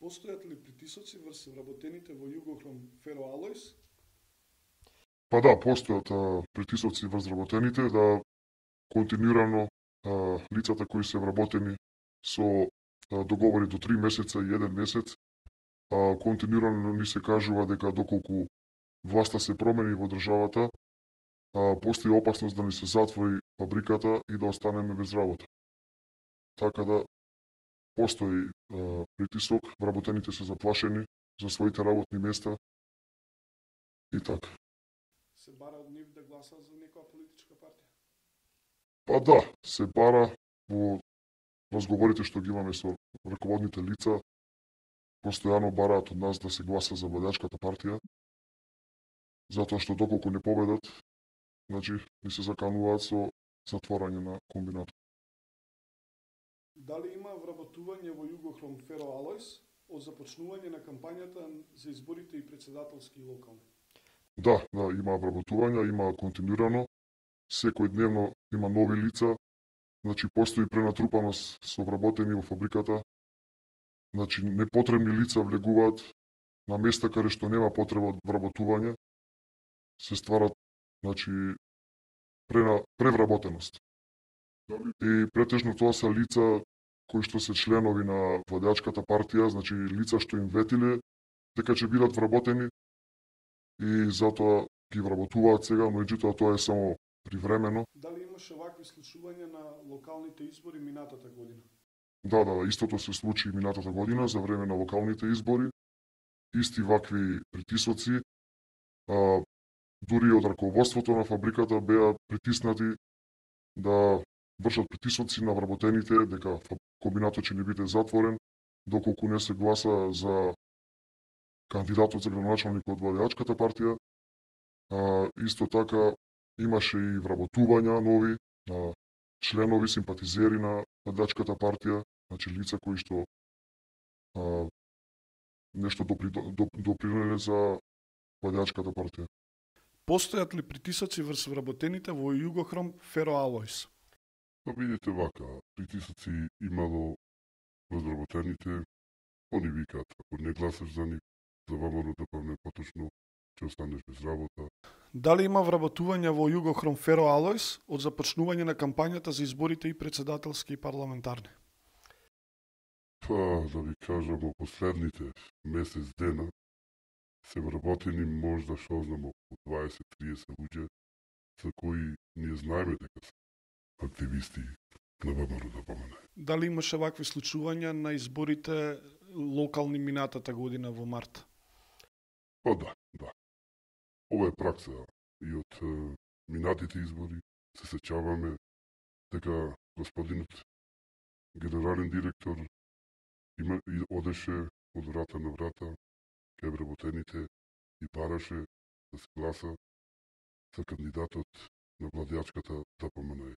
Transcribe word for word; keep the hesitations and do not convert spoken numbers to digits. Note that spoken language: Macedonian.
Постојат ли притисоци врз вработените во Југохром Фероалојс? Па да, постојат а, притисоци врз вработените да континуирано а, лицата кои се вработени со а, договори до три месеца и еден месец, а, континуирано ни се кажува дека доколку власта се промени во државата, а, постои опасност да ни се затвори фабриката и да останеме без работа. Така да постои а, притисок, вработените се заплашени за своите работни места и така. Се бара од нив да гласаат за некоја политичка партија? Па да, се бара во разговорите што ги имаме со раководните лица, постојано бараат од нас да се гласа за владеачката партија, затоа што доколку не победат, значи ни се закануваат со затворање на комбинатот. Дали има вработување во Југохром Фероалојс од започнување на кампањата за изборите и председателски и локални? Да, да, има вработувања, има континуирано, секој дневно има нови лица, значи постои пренатрупаност со вработени во фабриката, значи непотребни лица влегуваат на места каде што нема потреба од вработување, се стварат, значи, прена, превработеност. И претежно тоа се лица кои што се членови на владеачката партија, значи лица што им ветиле дека ќе бидат вработени и затоа ги вработуваат сега, но меѓутоа тоа е само привремено. Дали имаше вакви случувања на локалните избори минатата година? Да, да, истото се случи минатата година за време на локалните избори. Исти вакви притисоци, а, дури од раководството на фабриката беа притиснати да вршат притисоци на вработените дека комбинатот ќе не биде затворен доколку не се гласа за кандидатот за градоначалник од владеачката партија. А, исто така имаше и вработувања нови на членови, симпатизери на владеачката партија, значи лица кои што а, нешто допри, доп, допринеле за владеачката партија. Постојат ли притисоци врз вработените во Југохром Фероалојс? Па видите вака, притисоци имало разработените, они викаат, ако не гласаш за нив, за ВМРО ДПМН поточно, ќе останеш без работа. Дали има вработување во Југохром Фероалојс од започнување на кампањата за изборите и председателски и парламентарни? Па, да ви кажам, во последните месец дена се вработени можда шо знам околу дваесет до триесет луѓе за кои ние знаеме дека се активисти на ВМРО ДПМН. Дали имаше вакви случувања на изборите локални минатата година во март? Па да, да. Ова е пракса и од е, минатите избори се сеќаваме дека господинот генерален директор има, и одеше од врата на врата кај вработените и бараше да се гласа за кандидатот на владеачката ДПМН.